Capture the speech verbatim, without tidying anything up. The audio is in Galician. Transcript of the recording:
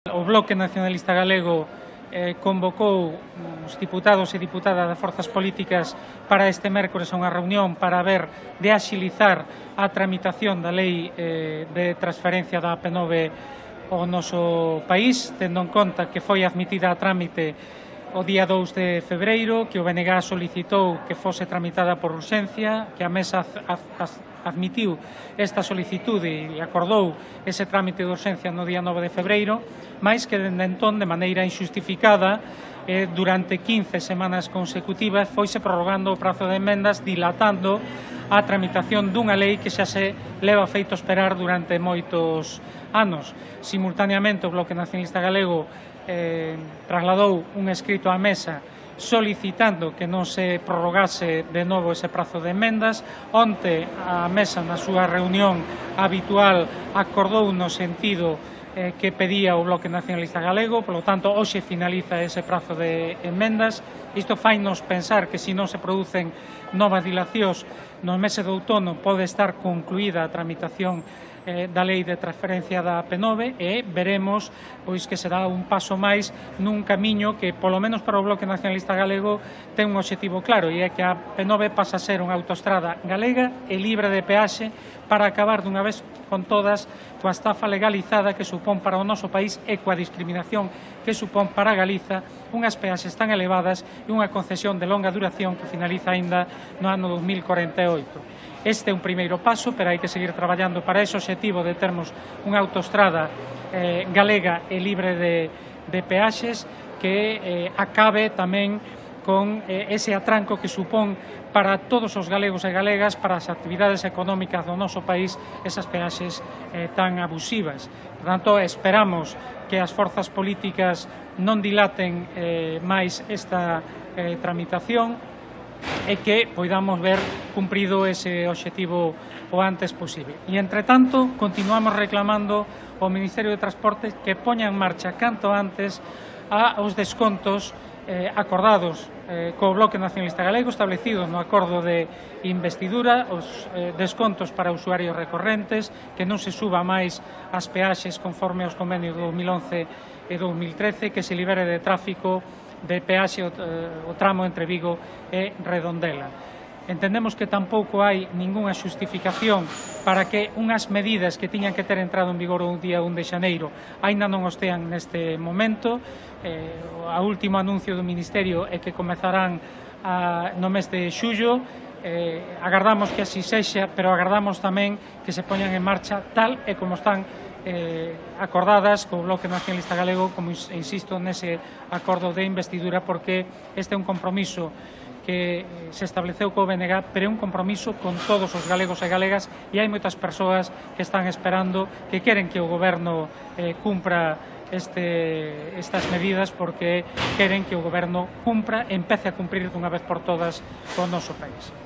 O Bloque Nacionalista Galego eh, convocou os diputados e diputadas das forzas políticas para este mércores a unha reunión para ver de axilizar a tramitación da lei eh, de transferencia da A P nove ao noso país, tendo en conta que foi admitida a trámite o día dous de febreiro, que o B N G solicitou que fose tramitada por urxencia, que a Mesa admitiu esta solicitude e acordou ese trámite de urxencia no día nove de febreiro, máis que dende entón, de maneira injustificada, eh, durante quince semanas consecutivas, foise prorrogando o prazo de emendas, dilatando a tramitación dunha lei que xa se leva feito esperar durante moitos anos. Simultaneamente, o Bloque Nacionalista Galego eh, trasladou un escrito á Mesa solicitando que non se prorrogase de novo ese prazo de emendas. Onte a Mesa, na súa reunión habitual, acordou no sentido eh, que pedía o Bloque Nacionalista Galego, polo tanto, hoxe finaliza ese prazo de emendas. Isto fainos pensar que se non se producen novas dilacións no meses de outono pode estar concluída a tramitación eh, da lei de transferencia da A P nove e veremos pois que será un paso máis nun camiño que, polo menos para o Bloque Nacionalista Galego, ten un obxectivo claro, e é que a A P nove pasa a ser unha autoestrada galega e libre de peaxe para acabar dunha vez con todas coa estafa legalizada que supón para o noso país e coa discriminación que supón para Galiza unhas peaxes tan elevadas e unha concesión de longa duración que finaliza aínda no ano dos mil corenta e oito. Este é un primeiro paso, pero hai que seguir traballando para ese obxectivo de termos unha autoestrada eh, galega e libre de, de peaxes que eh, acabe tamén con eh, ese atranco que supón para todos os galegos e galegas, para as actividades económicas do noso país, esas peaxes eh, tan abusivas. Por tanto, esperamos que as forzas políticas non dilaten eh, máis esta eh, tramitación e que poidamos ver cumprido ese obxectivo o antes posible. E, entre tanto, continuamos reclamando ao Ministerio de Transportes que poña en marcha canto antes a os descontos eh, acordados eh, co Bloque Nacionalista Galego, establecidos no acordo de investidura, os eh, descontos para usuarios recorrentes, que non se suba máis as peaxes conforme aos convenios do dos mil once e dos mil trece, que se libere de tráfico de peaxe o, eh, o tramo entre Vigo e Redondela. Entendemos que tampouco hai ningunha xustificación para que unhas medidas que tiñan que ter entrado en vigor o día un de xaneiro aínda non os tean neste momento. Eh, a último anuncio do Ministerio é que comezarán a, no mes de xullo. Eh, agardamos que así sexa, pero agardamos tamén que se poñan en marcha tal e como están eh, acordadas co Bloque Nacionalista Galego, como insisto nese acordo de investidura, porque este é un compromiso que se estableceu co B N G, pero é un compromiso con todos os galegos e galegas, e hai moitas persoas que están esperando, que queren que o Goberno eh, cumpra este, estas medidas, porque queren que o Goberno cumpra, empece a cumprir dunha vez por todas co noso país.